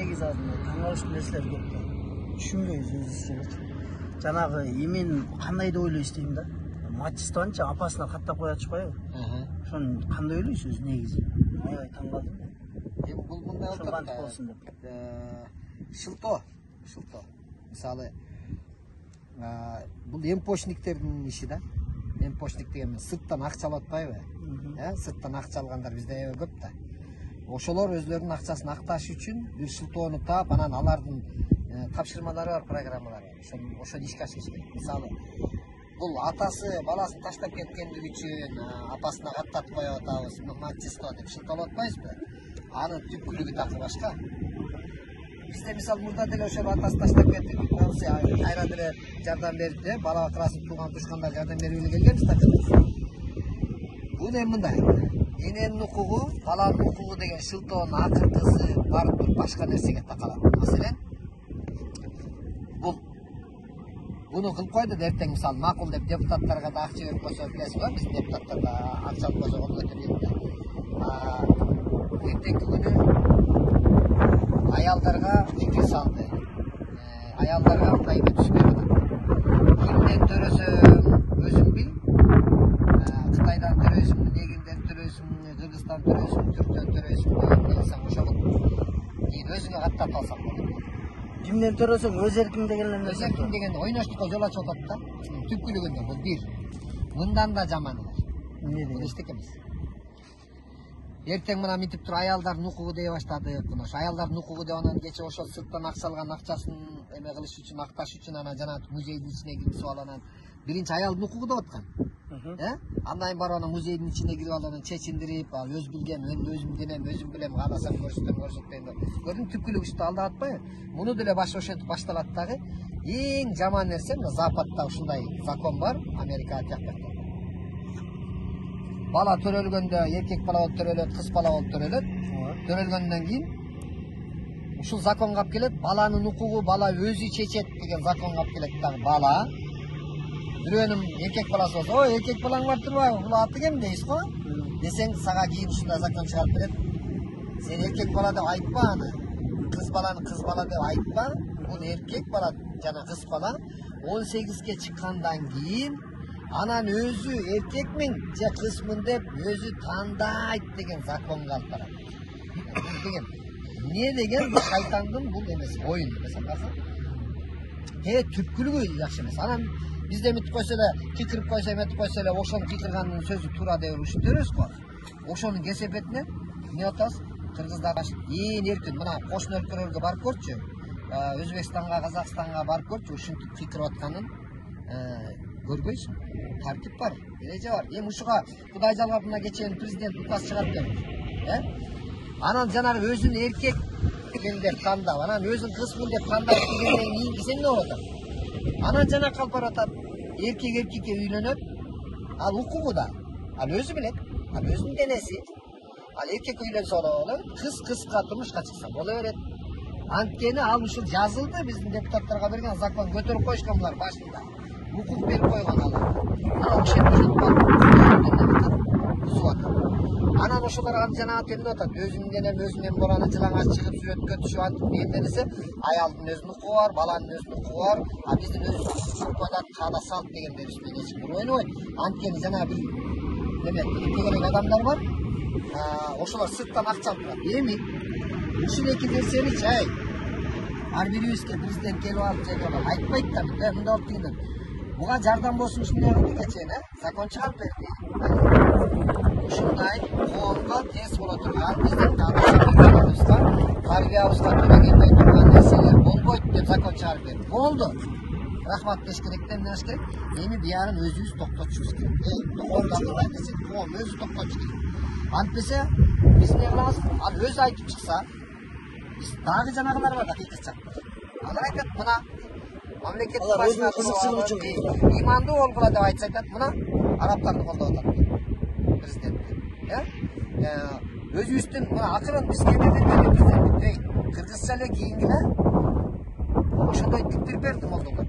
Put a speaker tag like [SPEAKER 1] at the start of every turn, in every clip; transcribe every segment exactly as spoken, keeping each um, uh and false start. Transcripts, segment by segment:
[SPEAKER 1] негизи азыр таң калыштуу нерселер көп да. Түшүнбөйбүз өзүбүз. Жанагы эмен кандай деп ойлойсуз дейм да. Мачистанчы апасына каттап кое атышпайбы? Ошону кандай ойлойсуз өзү негизи? Аябай таң калдым.
[SPEAKER 2] Эми бул мындай болсун деп. Шылтоо, шылтоо. Мисалы, бул эмпочниктердин иши да. Эмпочник деген сырттан акча алып атпайбы? Э, сырттан акча алгандар бизде аябай көп да. Ошолор өзлөрүнүн акчасын акташ үчүн бир шылтоону таап, анан алардын тапшырмалары бар, программалары. Ошону ошону ишке ашырыш керек. Мисалы, бул атасы баласын таштап кеткендиги үчүн апасына каттатып коюп атабыз, мачисто деп шылтоолоп атпайбызбы? Анын түпкүлүгү такыр башка. Бизде мисалы мурда деле ошол атасы таштап кетти, болсо кайра деле жардам берип, бала батырасып тууган тушкандар жардам берип эле келгенбиз да. Бул эми мындай. Эненин укугу, баланын укугу деген шылтоонун акыркысы барып туруп башка нерсеге такалат. Маселен, бул буну кылып койду да эртең мисалы макул деп депутаттарга да акча берип койсо, билесиз го, биздин депутаттар да акча алып койсо колго көтөрүп да. Эртеңки күнү аялдарга фикир салды. Аялдарга мындай эмне түшүп берди. Кимден төрөсөң өзүң бил. Кытайдан төрөйсүңбү, негинден төрөйсүңбү, Кыргызстан төрөйсүңбү, Түрктөн төрөйсүңбү, билсең ошол. Кийин өзүңө каттап алсаң болот.
[SPEAKER 1] Кимден төрөсөң өз эркиң деген эмне?
[SPEAKER 2] Өз эркиң деген ойноштукка жол ачып атат да. Түпкүлүгүндө бул бир. Мындан да жаманы бар.
[SPEAKER 1] Эмне
[SPEAKER 2] бул эчтеке эмес. Эртең мына мынтип туруп аялдардын укугу дей баштадык. Мына ошо аялдардын укугу деп анан кече ошол сырттан акча алган акчасын эме кылыш үчүн, акташ үчүн анан жана музейдин ичине киргизип алып анан биринчи аялдын укугу деп аткан. Э? Андан кийин барып анан музейдин ичине кирип алып анан чечиндирип, өз билген, мен өзүм денем, өзүм билем, кааласам көрсөтөм, көрсөтпөйм деп. Көрдүң түпкүлүгү ушунда алдап атпайбы? Муну деле баш ошентип башталат дагы. Эң жаман нерсе мына Западта ушундай закон бар, Америкага тиякпайт. Бала төрөлгөндө эркек бала болуп төрөлөт, кыз бала болуп төрөлөт. Төрөлгөндөн кийин ушул законго алып келет, баланын укугу бала өзү чечет деген законго алып келет дагы бала. Бирөөнүн эркек баласы болсо, ой, эркек балаң бар турбайбы? Бул аты кем дейсиз го? Десең, сага кийин ушундай закон чыгарып берет. Сен эркек бала деп айтпа аны. Кыз баланы кыз бала деп айтпа. Бул эркек бала жана кыз бала он сегизге чыккандан кийин анан өзү эркекмин же кызмын деп өзү тандайт деген законго алып барат. Деген эмне деген бул шайтандын бул эмеси, оюн эмес акыркы. Э, түпкүлүгү жакшы эмес. Анан бизде мынтип койсо эле, кикирип койсо, эметип койсо эле, ошонун кикирганынын сөзү туура деп ушинтербиз го. Ошонун кесепетинен эмне атабыз? Кыргыздар ээн эркин мына кошуна өлкөлөргө барып көрчү. Өзбекстанга, Казакстанга барып көрчү, ушинтип кикирип атканын көрбөйсүң. Тартип бар, эреже бар. Эми ушуга Кудай жалгап мына кечээ президент указ чыгарып берди. Э? Анан жанагы өзүн эркек деп тандап, анан өзүн кызмын деп тандап дегенден кийин кисен эмне болуп атат? Анан жана калып баратат. Эркек эркекке үйлөнөт. Ал укугу да. Ал өзү билет. Ал өзүнүн денеси. Ал эркекке үйлөнсө болот, кыз кызга турмушка чыкса боло берет. Анткени ал ушул жазылды, биздин депутаттарга берген закон көтөрүп коюшкан булар башында. Укук берип койгон алар. Анан ошентип анан ошолор жана эмне атат? Өзүнүн денем, өзүнүн баланы жылаңач чыгып сүрөткө түшүп атып деген десе, аялдын өзүнүн укугу бар, баланын өзүнүн укугу бар. А биздин өзүбүздүн койлар каада салт деген дерис менен эч ким ойнобойт. Анткени жана бир неме тегерек адамдар бар. Ошолор сырттан акча алып турат. Эми ушул эки нерсеничи ай ар бирибизге президент келип алып же айтпайт да, мындай болуп дегенден. Буга жардам болсун ушундай кылды кечээ, э? Закон чыгарып берди. Ушундай коомго терс боло турган, биздин тарбиябызга тарбиябызга туура келбей турган нерселер болбойт деп закон чыгарып берди. Болду. Рахмат деш керек, эмне деш керек? Эми биярын өзүбүз токтотушубуз керек. Эй, токтотуп десе, коом өзү токтотуш керек. Антпесе, биз эмне кылабыз? Ал өзү айтып чыкса, биз дагы жанагылар бар да кыйкырчак. Алар айтат, мына мамлекеттик башчы кызыкчылык үчүн имандуу болгула деп айтса айтат, мына арабтарды колдоп атат президент. Э? Өзүбүздүн мына акырын биз кемеден президент. Эй, кыргызча эле кийингиле. Ошондой типтирип берди молдолор.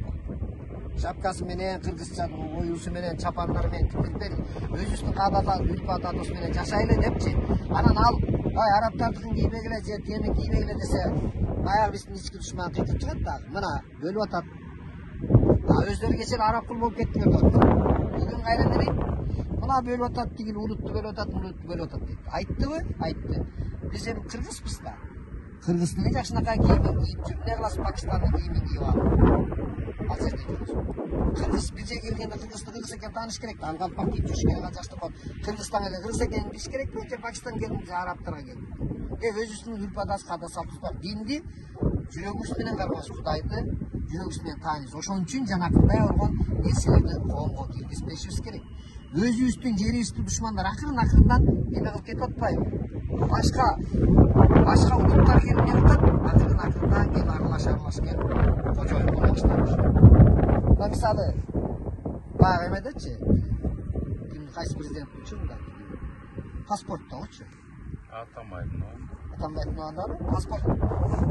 [SPEAKER 2] Шапкасы менен, кыргызча оюусу менен, чапандары менен типтирип берди. Өзүбүздүн каадат, үрп адатыбыз менен жашайлы депчи. Анан ал ай арабтардыкын кийбегиле же тени кийбегиле десе баягы биздин ички душман кыйтып чыгат дагы. Мына бөлүп атат. А өздөрү кечээ араб кул болуп кеттилер деп атат. Бүгүн кайра эмне? Мына бөлүп атат, тигил улутту бөлүп атат, улутту бөлүп атат дейт. Айттыбы? Айтты. Биз эми кыргызбыз да. Кыргыздын жакшынакай кийиmin кийип жүрүп, эмне кыласыз Пакистандын кийимин кийип алып? Ал жерде кыргыз бизге келгенде кыргызды кыргыз экенин тааныш керек да. Ал калпак кийип жүрүш керек, ал жакшы болот. Кыргызстан эле кыргыз экенин билиш керек да, же Пакистан келди, же арабтарга келди. Э өзүбүздүн үрп-адат, каада салтыбыз бар. Динди жүрөгүбүз менен кармайбыз, Кудайды жүрөгүбүз менен тааныйбыз. Ошон үчүн жанакындай болгон нерселерди коомго киргизбешибиз керек. Өзүбүздүн жерибизди душмандар акырын акырындан эме кылып кетип атпайбы? Башка башка улуттар келип не кылат? Акырын акырындан келип аралаш аралаш келип кожоюн боло баштайбыз. Мына мисалы баягы эмедечи, ким кайсы президенттичи мында? Паспорттобучу.
[SPEAKER 3] Атамайдын.
[SPEAKER 2] Атамайдын андары паспорт.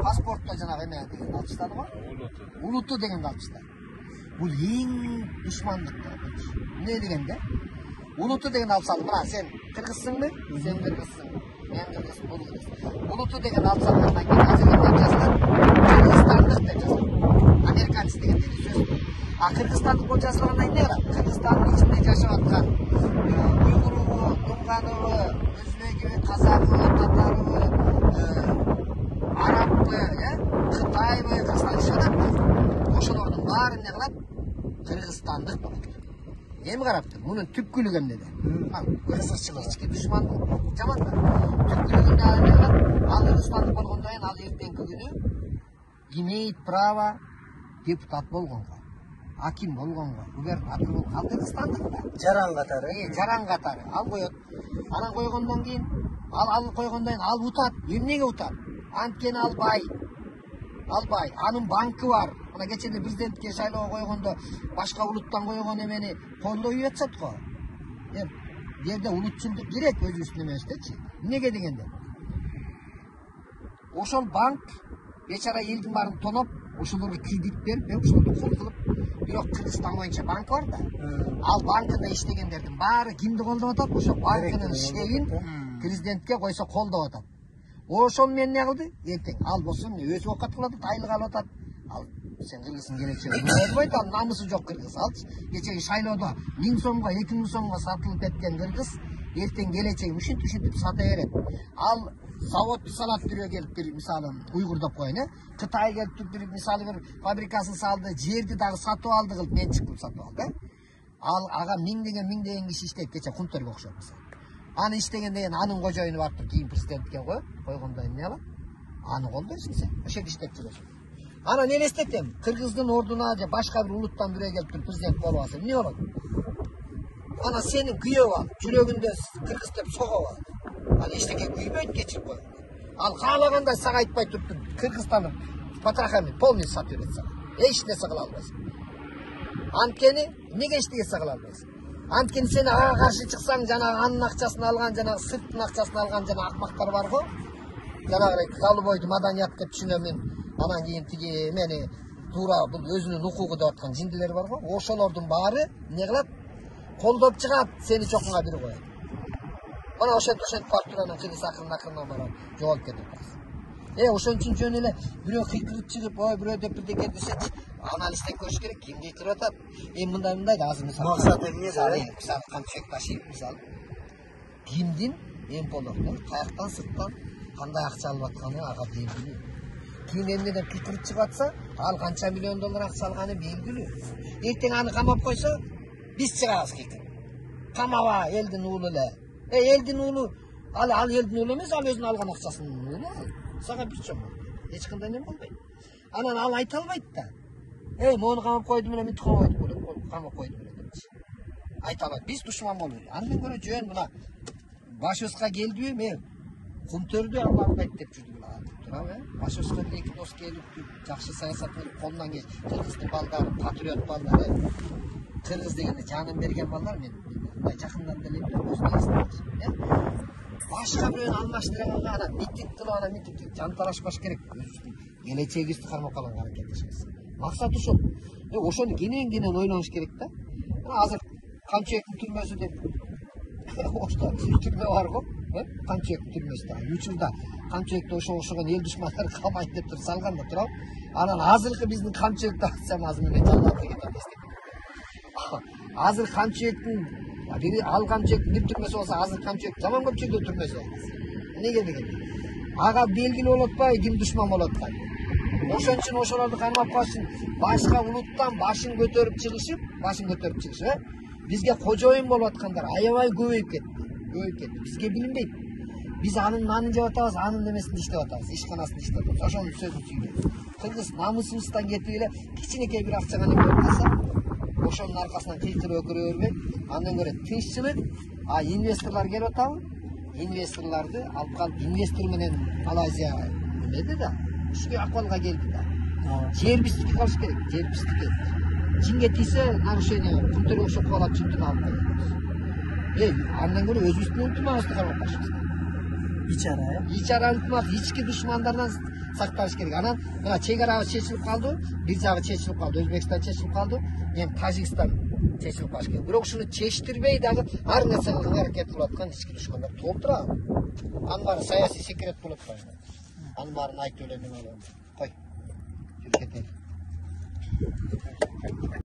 [SPEAKER 2] Паспортто жанагы эме деген алыштады го?
[SPEAKER 3] Улуту.
[SPEAKER 2] Улуту дегенди алыштады. Бул эң душмандыктыр. Эмне дегенде? Улуту деген алсаң, мына сен кыргызсыңбы? Сен кыргызсың. Мен кыргызмын, бул кыргыз. Улуту деген алсаң, андан кийин азыркы жазылат, кыргызстандык деп жазылат. Американец деген сөз. А кыргызстандык болуп жазылгандан кийин эмне кылат? Кыргызстандын ичинде жашап аткан уйгурубу, дунганову, өзбегиби, казагыбы, татарыбы, араббы, э, кытайбы, кыргызстан жашап атат. Ошолордун баары эмне кылат? Кыргызстандык болот. Эми караптыр, мунун түпкүлүгү эмнеде? Кыргызчылык ички душмандык жаман да. Түпкүлүгүндө ал эмне кылат? Ал кыргызстандык болгондон кийин ал эртеңки күнү имеет право депутат болгонго, аким болгонго, губернатор болгонго, ал кыргызстандык да.
[SPEAKER 1] Жаран катары.
[SPEAKER 2] Э, жаран катары. Ал коет. Анан койгондон кийин, ал ал койгондон кийин ал утат. Эмнеге утат? Анткени ал бай. Ал бай. Анын банкы бар. Мына кечээ президентке шайлоого койгондо башка улуттан койгон эмени колдой жатышат го. Эм, бу жерде улутчулдук керек өзүбүздүн эмебиздечи. Эмнеге дегенде? Ошол банк бечара элдин баарын тоноп, ошолорго кредит берип, ошолорду кол кылып, бирок Кыргызстан боюнча банк бар да. Ал банкында иштегендердин баары кимди колдоп атат? Ошо банкынын шегин президентке койсо колдоп атат. Ошол менен эмне кылды? Эртең ал болсо өзү оокат кылып атат, айлык алып атат. Ал сен кыргыздын келечеги болбойт, ал намысы жок кыргыз. Алчы кечеги шайлоодо миң сомго, эки миң сомго сатылып кеткен кыргыз эртең келечеги ушинтип ушинтип сата берет. Ал завод салат түрүгө келип бир мисалы уйгур деп коеюн, э. Кытай келип туруп бир мисалы бир фабрикасын салды, жерди дагы сатып алды кылып, мен чыгып сатып алды, э. Ал ага миңдеген миңдеген киши иштейт, кече Кунтөргө окшоп мисалы. Аны иштегенден кийин анын кожоюну барып кийин президентке коюп, койгондон кийин эмне кылат? Аны колдойсуң сен. Ошол иштеп жүрөсүң. Анан элестетем, кыргыздын ордуна же башка бир улуттан бирөө келип туруп президент болуп алса, эмне болот? Ана сени күйөп алып, жүрөгүндө кыргыз деп согуп алат. Ал эчтеке күйбөйт, кечирип койгон. Ал каалагандай сага айтпай туруп Кыргызстандын потрохами полный сатып берет сага. Эч нерсе кыла албайсың. Анткени эмнеге эч нерсе кыла албайсың? Анткени сен ага каршы чыксаң, жанагы анын акчасын алган, жанагы сырттын акчасын алган жана акмактар бар го. Жанагы голубойду маданият деп түшүнөм мен. Анан кийин тиги мени туура бул өзүнүн укугу деп аткан жиндилер бар го. Ошолордун баары эмне кылат? Колдоп чыгат, сени чокуңа бир коет. Мана ошентип ошентип барып туруп анан кыргыз акырын акырын барып жоголуп кетет. Э, ошон үчүн жөн эле бирөө кыйкырып чыгып, ой бирөө деп бирдеке десечи, анализден көрүш керек, ким кыйкырып атат. Эми мындай мындай да азыр мисалы.
[SPEAKER 1] Максат эмне да?
[SPEAKER 2] Мисалы Камчыбек Башиев мисалы. Кимдин эм болорду, каяктан сырттан кандай акча алып атканы ага белгилүү. Ким эмнеден кыйкырып чыгып атса, ал канча миллион доллар акча алганы белгилүү. Эртең аны камап койсо, биз чыгабыз кыйкырып. Камаба элдин уулу эле. Э, элдин уулу, ал ал элдин уулу эмес, ал өзүнүн алган акчасынын уулу. Сага бир чоң. Эч кандай эме болбойт. Анан ал айта албайт да. Эй, мону камап койду менен мынтип камап койду, камап койду менен депчи. Айта албайт. Биз душман болбойт. Андан көрө жөн мына башыбызга келдиби, мен Кунтөрдү албайт деп жүрдүм ала. Туурабы? Башыбызга эки дос келип, жакшы саясат кылып, колунан келип, кыргыздын балдары, патриот балдары, кыргыз дегенде жанын берген балдар мен мындай жакындан деле билем, өзүнө башка бирөөнү алмаштырганга анан митинг кылып, анан митинг жанталашпаш керек. Өзүбүздүн келечегибизди кармап калганга аракет этишебиз. Максат ушул. Э, ошону кенен-кенен ойлонуш керек да. Азыр Камчыбектин түрмөсү деп Ошто түрмө бар го. Камчыбек түрмөсүндө үч жылда Камчыбекти ошого окшогон эл душмандары камайт деп туруп салган да туурабы. Анан азыркы биздин Камчыбекти атсам азыр мен жалгап деген азыр Камчыбектин бири ал Камчыбектин бир түрмөсү болсо азыр Камчыбек жаман көпчүлүктө түрмөсү эмнеге дегенде ага белгилүү болуп атпайбы ким душман болуп атканы. Ошон үчүн ошолорду кармап калыш үчүн башка улуттан башын көтөрүп чыгышып, башын көтөрүп чыгышып, э? Бизге кожоюн болуп аткандар аябай көбөйүп кетти. Көбөйүп кетти. Бизге билинбейт. Биз анын нанын жеп атабыз, анын немесинде иштеп атабыз, ишканасында иштеп атабыз. Ошонун сөзүн түйүнөбүз. Кыргыз намысыбыздан кетип эле кичинекей бир акчага неме болуп калса, ошонун аркасынан кыйкырып өкүрө бербей, андан көрө тынччылык, а инвесторлор келип атабы? Инвесторлорду алып калып, инвестор менен Малайзия эмеди да, ушул акыбалга келди да. Жер биздики калыш керек, жер биздики. Кимге тийсе нарушение, күнтөргө окшоп калат чүнтүн алып коебуз. Эй, андан көрө өзүбүздүн ынтымагыбызды кармап башыбыз.
[SPEAKER 1] Ичара, э?
[SPEAKER 2] Ичара ынтымак, ички душмандардан сакталыш керек. Анан мына чек арабыз чечилип калды, бир жагы чечилип калды, Өзбекстан чечилип калды, эми Тажикстан чечилип калыш керек. Бирок ушуну чечтирбей дагы ар нерсе кылганга аракет кылып аткан ички душмандар толуп турабы? Анын баары саясий секрет болуп атпайбы? Анын баарын айтып эле неме кылам. Кой. Жүрүп кетели.